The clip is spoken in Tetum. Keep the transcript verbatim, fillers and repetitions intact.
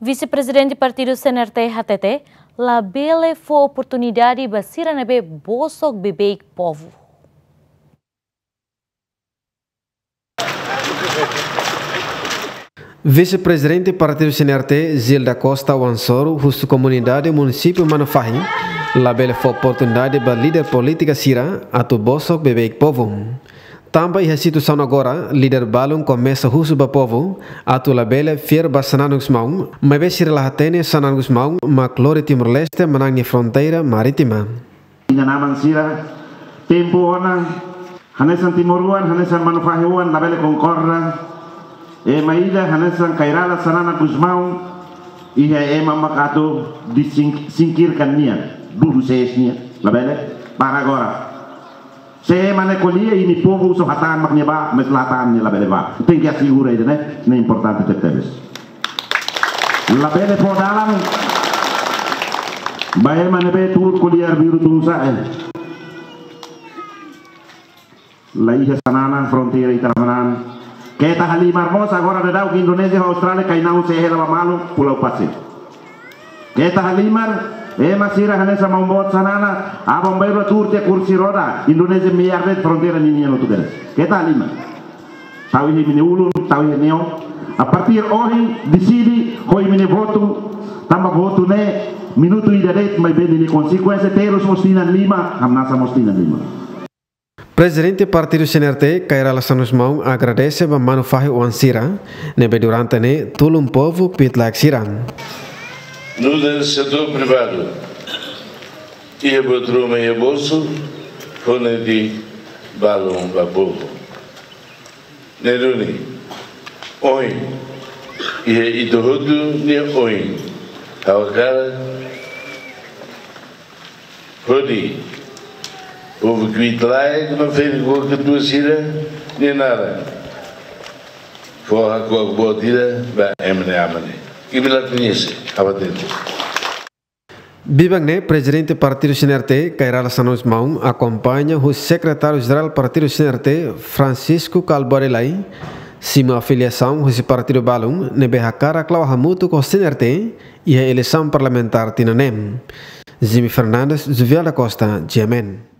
Vise-Prezidente Partidu C N R T hatete, labele fó oportunidade ba sira ne'ebé bosok beibeik povu. Vise-Prezidente Partidu C N R T, Gil da Costa Wansoru, husu komunidade munisípiu Manufahi, labele fó oportunidade ba líder polítika sira atu bosok beibeik povu. Tanba iha situasaun agora, líder balun komesa husu ba povu atu labele fiar ba Xanana Gusmão, maibé sira la hatene Xanana Gusmão mak lori Timor-Leste manán nia fronteira marítima. Inan-aman sira, tempu ona, hanesan timoroan, hanesan Manufahi oan, labele konkorda. Ema ida hanesan Kay Rala Xanana Gusmão, iha ema mak atu dising-, singkirkan nia, dudu sees nia, labele, para agora. Se ema ne'e ko'alia, imi povu só hatán mak nia bá, mas la hatán nia labele bá. Tenke asegura ida-ne'e, ne'e importante tebetebes. Labele fó dalan ba ema ne'ebé tuur ko'alia arbiru tun sa'e. La iha Xanana, fronteira ita la manán. Keta halimar mós, agora daudaun Indonézia ho Austrália kainahun sei hela ba malu Pulau Pasir. Keta halimar, ema sira hanesan maun-boot Xanana, aban-bainrua tuur tiha kursi roda, Indonézia meiar de'it fronteira ninian hotu kedas. Keta halimar. Tau iha imi-nia ulun, tau iha neon. A partir ohin, deside, ho imi-nia votu, tanba votu ne'e, minutu ida de'it, maibé ninia konsekuénsia terus mós tinan lima, hamnasa mós tinan lima. Prezidente Partidu C N R T, Kay Rala Xanana Gusmão, agradese ba Manufahi oan sira ne'ebé durante ne'e tulun povu kbiit-laek sira. Nu'udar setór privadu, iha buat ruma iha bolsu, fó netik balun ba povu. Ne'e duni, ohin, iha ita hotu nia oin, ha'u hakarak hodi povu kbiit-laek no ferik-oan katuas sira-nia naran fó hakuak boot ida ba ema ne'e, aman ne'e. Imi la koñese, ha'u hatete. Biban ne'e, Prezidente Partidu C N R T, Kay Rala Xanana Gusmão, akompaña husi Sekretáriu-Jerál Partidu C N R T, Francisco Kalbuadi Lay, simu afiliasaun husi partidu balun ne'ebé hakarak la'o hamutuk ho C N R T iha eleisaun parlamentár tinan ne'e. Jimmy Fernandes, Juvial da Costa, G M N.